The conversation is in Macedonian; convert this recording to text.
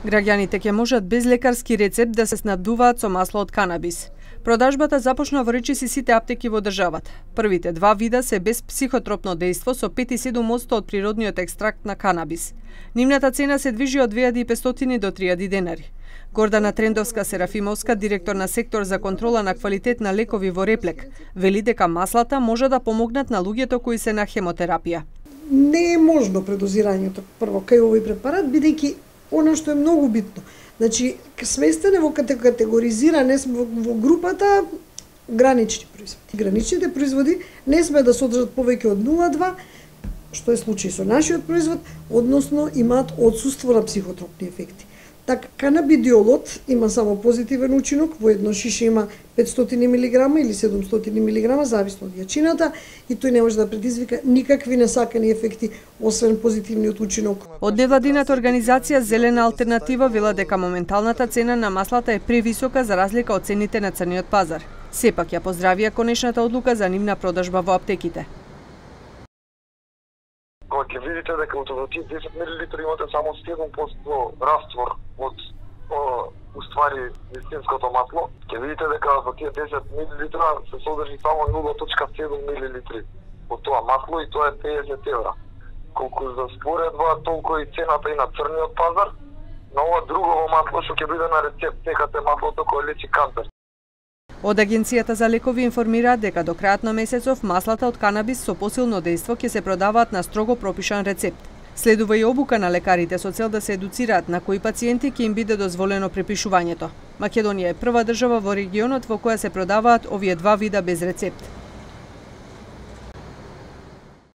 Граѓаните ќе можат без лекарски рецепт да се снабдуваат со масло од канабис. Продажбата започна во речиси сите аптеки во државата. Првите два вида се без психотропно дејство со 5,7% од природниот екстракт на канабис. Нивната цена се движи од 2500 до 3000 денари. Гордана Трендовска-Серафимовска, директор на сектор за контрола на квалитет на лекови во Реплек, вели дека маслата може да помогнат на луѓето кои се на хемотерапија. Не е можно предозирањето прво кај овој препарат, бидејќи она што е многу битно. Значи, сместене во категоризиране во групата гранични производи. Граничните производи не сме да содржат повеќе од 0,2, што е случај со нашиот производ, односно имаат отсуство на психотропни ефекти. Така, канабидиолот има само позитивен учинок, во едно шише има 500 мг или 700 мг, зависно од јачината, и тој не може да предизвика никакви несакани ефекти, освен позитивниот учинок. Од невладината организација Зелена алтернатива вела дека моменталната цена на маслата е превисока за разлика од цените на црниот пазар. Сепак ја поздравија конечната одлука за нивна продажба во аптеките. Кога ќе видите дека од тие 10 мл имате само 7% раствор од уствари вистинското масло, ќе видите дека во тие 10 мл се содржи само 0,7 мл од тоа масло и тоа е 50 евра. Колку за споредба, толку и цената и на црниот пазар, на ова друго масло што ќе биде на рецепт, секате маслото кој лечи канцер. Од Агенцијата за лекови информираат дека до крајот на месецов маслата од канабис со посилно дејство ќе се продаваат на строго пропишан рецепт. Следува и обука на лекарите со цел да се едуцираат на кои пациенти ќе им биде дозволено препишувањето. Македонија е прва држава во регионот во која се продаваат овие два вида без рецепт.